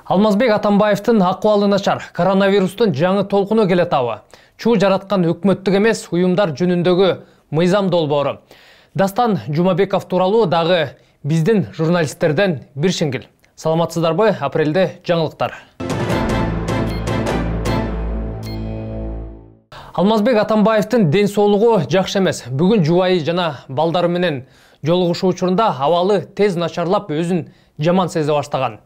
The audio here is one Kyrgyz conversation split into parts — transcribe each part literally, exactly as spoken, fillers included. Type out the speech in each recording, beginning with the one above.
Алмазбек Атамбаевдин акыбалы начар, коронавирустун жаңы толкуну келе табы. Чуу жараткан өкмөттүк эмес уюмдар жөнүндөгү мыйзам долбоору. Дастан Жумабеков тууралуу дагы биздин журналисттерден бир шеңгил. Саламатсыздарбы? Апрелде жаңылыктар. Алмазбек Атамбаевдин ден соолугу жакшы эмес. Бүгүн жубайы жана балдары менен жолугушуу учурунда абалы тез начарлап өзүн жаман сезе баштаган.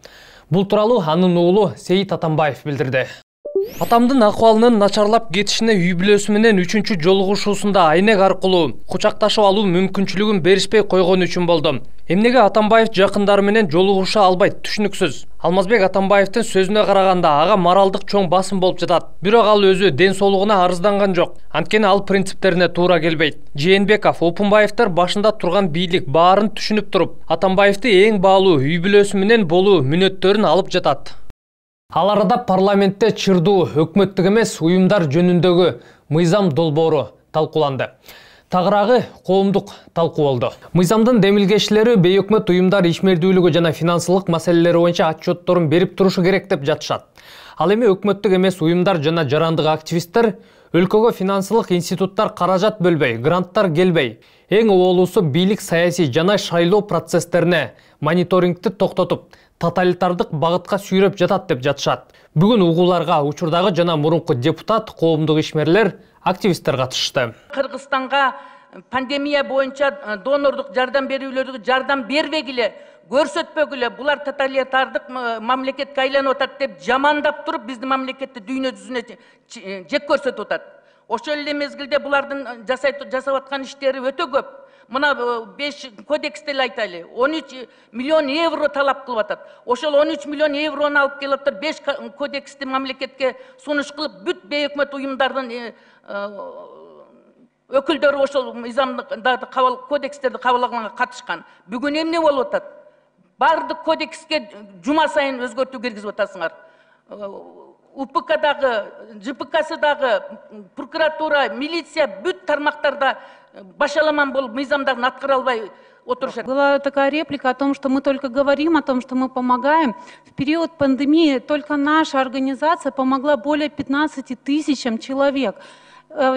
Бул тууралуу анын уулу Сейит Атамбаев билдирди. Атамдын акыбалынын начарлап кетишине үй бүлөсү менен үчүнчү жолугушуусунда айнек аркылуу кучакташып алуу мүмкүнчүлүгүн беришпей койгон үчүн болду. Эмнеге Атамбаев жакындары менен жолугуша албайт, түшүнүксүз. Алмазбек Атамбаевдин сөзүнө караганда ага моралдык чоң басым болуп жатат. Бирок ал өзү ден соолугуна арызданган жок. Анткени ал принциптерине туура келбейт. Жээнбеков, Опунбаевдер башында турган бийлик баарын түшүнүп туруп, Атамбаевди эң баалуу үй бүлөсү менен болуу мүнөттөрүн алып жатат. Ал арада парламентте чырдуу өкмөттүк эмес уюмдар жөнүндөгү мыйзам долбоору талкууланды. Тагыраагы коомдук талкуу болду. Мыйзамдын демилгечилери бейөкмөт уюмдар ишмердүүлүгү жана финансылык маселелери боюнча отчетторун берип турушу керек деп жатышат. Ал эми өкмөттүк эмес уюмдар жана жарандык активисттер өлкөгө финансылык институттар каражат бөлбөй, гранттар келбей, эң оолусу бийлик саясий жана шайлоо процесстерине мониторингти токтотуп, тоталитардык багытка сүйрөп жатат деп жатышат. Бүгүн угууларга учурдагы жана мурунку депутат, коомдук ишмерлер, активисттер катышты. Кыргызстанга пандемия боюнча донордук жардам берүүлөргө жардам бербегиле, көрсөтпөгүлө, булар тоталитардык мамлекетке айланып атат деп жамандап туруп, биздин мамлекетти дүйнө жүзүнө жек көрсөтүп атат. Ошол эле мезгилде булардын жасап аткан иштери өтө көп. Мына беш кодексте айтайлы, он үч миллион евро талап кылып атат. Ошол он үч миллион еврону алып келип атат, беш кодексти мамлекетке сунуш кылып, бүт бейөкмөт уюмдардын өкүлдөрү ошол мыйзамдарды кабыл кодекстерди кабылдаганга катышкан. Бүгүн эмне болуп атат? Бардык кодекске жума сайын өзгөртүү киргизип атасыңар. УПКдагы, ЖПКсыдагы, прокуратура, милиция бүт тармактарда башаламан болуп мыйзамдарын аткара албай отурушат. Была такая реплика о том, что мы только говорим о том, что мы помогаем. В период пандемии только наша организация помогла более пятнадцати тысячам человек.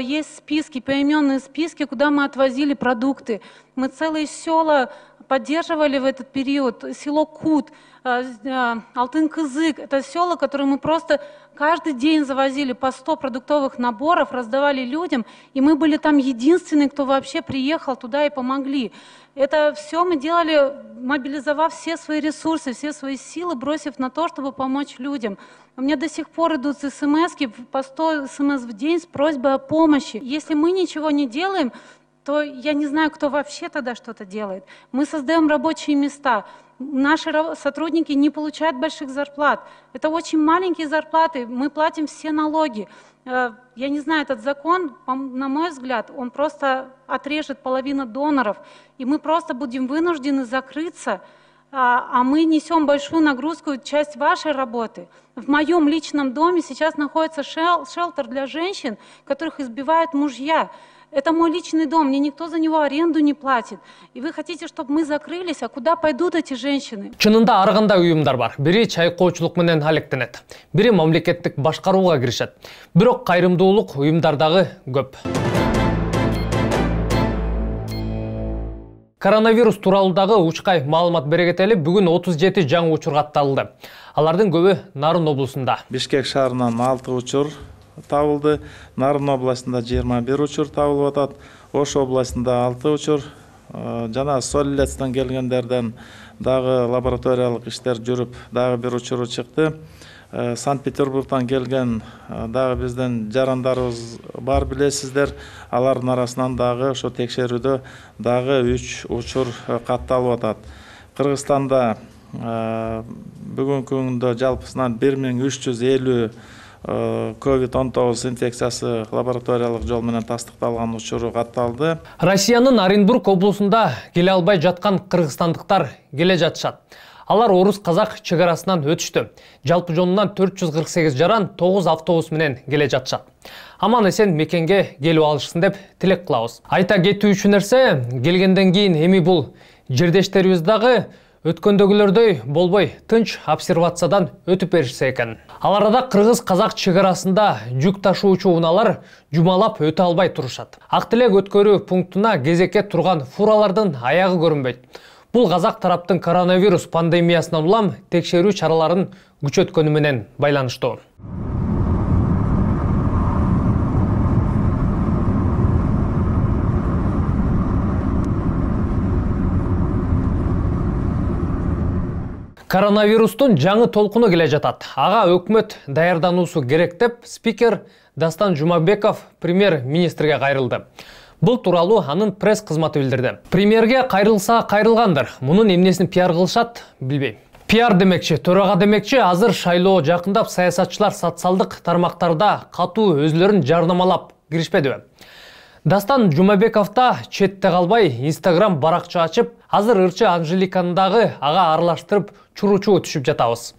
Есть списки, поименные списки, куда мы отвозили продукты. Мы целые села поддерживали в этот период. Село Кут, Алтын-Кызык. Это села, которые мы просто каждый день завозили по сто продуктовых наборов, раздавали людям. И мы были там единственные, кто вообще приехал туда и помогли. Это все мы делали, мобилизовав все свои ресурсы, все свои силы, бросив на то, чтобы помочь людям. У меня до сих пор идут смски, по сто смс в день с просьбой о помощи. Если мы ничего не делаем, то я не знаю, кто вообще тогда что-то делает. Мы создаем рабочие места. Наши сотрудники не получают больших зарплат. Это очень маленькие зарплаты. Мы платим все налоги. Я не знаю, этот закон, на мой взгляд, он просто отрежет половину доноров. И мы просто будем вынуждены закрыться. А мы несем большую нагрузку, часть вашей работы. В моем личном доме сейчас находится шелтер для женщин, которых избивают мужья. Это мой личный дом, мне никто за него аренду не платит. И вы хотите, чтобы мы закрылись, а куда пойдут эти женщины? Чынында ар кандай уюмдар бар. Бири чайкоочулук менен алектенет, бири мамлекеттик башкарууга киришет. Бирок кайрымдуулук уюмдардагы көп. Коронавирус тууралуудагы учкай маалымат бере кетели. Бүгүн отуз жети жаңы учур катталды. Алардын көбү Нарын облусунда. Бишкек шаарынан алты учур табылды. Нарын областында жыйырма бир учур табылып атат. Ош областында алты учур. Жана Солилецтен келгендерден дагы лабораториялык иштер жүрүп, дагы бир учуру чыкты. Санкт-Петербургдан келген дагы бизден жарандарыбыз бар билесиздер. Алардын арасынан дагы ошо текшерүүдө дагы үч учур катталып атат. Кыргызстанда бүгүнкү күндө жалпысынан бир миң үч жүз элүү ковид он тогуз инфекциясы лабораториялык жол менен тастыкталган учуру катталды. Россиянын Оренбург облусунда келе албай жаткан кыргызстандыктар келе жатышат. Алар орус-казак чек арасынан өтүштү. Жалпы жонунан төрт жүз кырк сегиз жаран тогуз автобус менен келе жатышат. Аман эсен мекенге келип алышсын деп тилек кылабыз. Айта кетүүчү нерсе, келгенден кийин эми бул жердештерибиз дагы өткөндөгүлөрдөй болбой тынч обсервациядан өтүп беришсе экен. Ал арада кыргыз-казак чек арасында жүк ташуучу унаалар жумалап өтө албай турушат. Ак Тилек өткөрүү пунктуна кезекке турган фуралардын аягы көрүнбөйт. Бул казак тараптын коронавирус пандемиясынан улам текшерүү чараларын күчөткөнү менен байланыштуу. Коронавирустун жаңы толкуну келе жатат. Ага өкмөт даярдануусу керек деп спикер Дастан Жумабеков премьер-министрге кайрылды. Бул тууралуу анын пресс кызматы билдирди. Премьерге кайрылса кайрылгандыр. Мунун эмнесин пиар кылышат, билбейм. Пиар демекчи, төрага демекчи, азыр шайлоо жакындап саясатчылар социалдык тармактарда катуу өзлөрүн жарнамалап киришпедиби? Дастан Жумабеков да четте калбай Instagram баракча ачып, азыр ырчы Анжеликаны дагы ага аралаштырып чуручу түшүп жатабыз.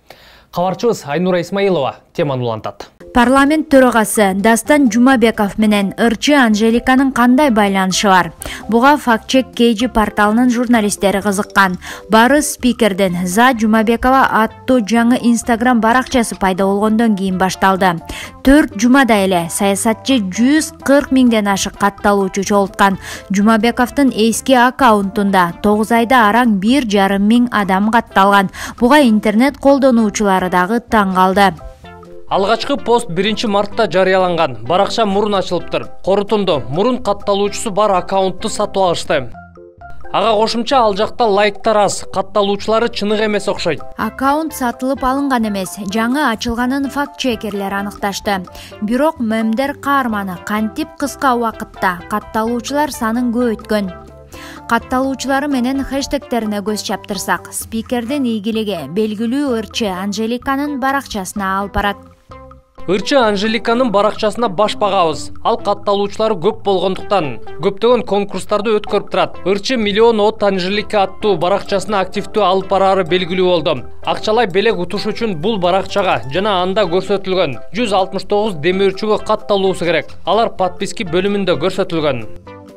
Кабарчыбыз Айнура Исмаилова теманы улантат. Парламент төрагасы Дастан Жумабеков менен ырчы Анжеликанын кандай байланышы бар? Буга фактчек кей жи порталынын журналисттери кызыккан. Бары спикерден За Жумабекова аттуу жаңы Instagram баракчасы пайда болгондон кийин башталды. төрт жумада эле саясатчы жүз кырк миңден ашык катталуучу чогулткан. Жумабековдун эски аккаунтунда тогуз айда араң бир жарым миң адам катталган. Буга интернет колдонуучулары дагы таң калды. Алгачкы пост биринчи мартта жарыяланган. Баракча мурун ачылыптыр. Корутунду, мурун катталуучусу бар аккаунтту сатып алышты. Ага кошумча ал жакта лайктар аз, катталуучулары чынык эмес окшойт. Аккаунт сатылып алынган эмес, жаңы ачылганын факт-чекерлер аныкташты. Бирок мемдер каарманы кантип кыска убакытта катталуучулар санын көбөйткөн. Катталуучулары менен хэштегтерине көз чаптырсак, спикердин ийгилиги белгилүү ырчы Анжеликанын баракчасына алып барат. Ырчы Анжеликанын баракчасына баш багабыз. Ал катталуучулары көп болгондуктан көптөгөн конкурстарды өткөрүп турат. Ырчы миллион от Анжелика аттуу баракчасына активдүү алып бараары белгилүү болду. Акчалай белек утуш үчүн бул баракчага жана анда көрсөтүлгөн жүз алтымыш тогуз демөөрчүгө катталуусу керек. Алар подписки бөлүмүндө көрсөтүлгөн.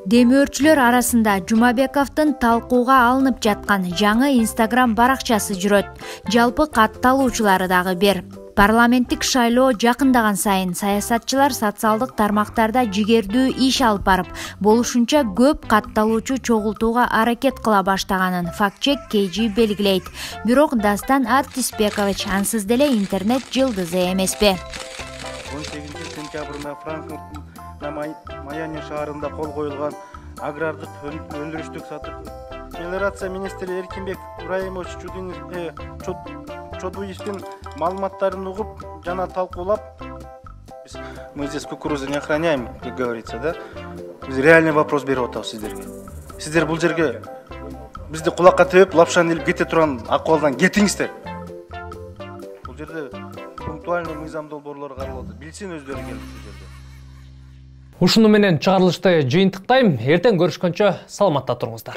Демөөрчүлөр арасында Жумабековдун талкууга алынып жаткан жаңы Instagram баракчасы жүрөт. Жалпы катталуучулары дагы бир. Парламенттик шайлоо жакындаган сайын саясатчылар социалдык тармактарда жигердүү иш алып барып, болушунча көп катталуучу чогултууга аракет кыла баштаганын фактчек кей жи белгилейт. Бирок Дастан Артисбекович ансыз деле интернет жылдызы эмеспи. он сегизинчи сентябрда Франкфурттун Майами шаарында кол коюлган агрардык өндүрүштүк сатып мелиорация министри Эркинбек Ибраимович Чодуевдин маалыматтарын угуп жана талкуулап, мы здесь кукурузу не охраняем, как говорится, да? Биз реальный вопрос берип атабыз сиздерге. Сиздер бул жерге бизди кулакка тебип, лапшаны илип кете турган акыбалдан кетиңиздер. Бул жерде пунктуальный мыйзам долбоорлору каралат. Билсин өздөрү келип бул жерде. Ушуну менен чыгарылышты жыйынтыктайм. Эртең көрүшкөнчө саламатта туруңуздар.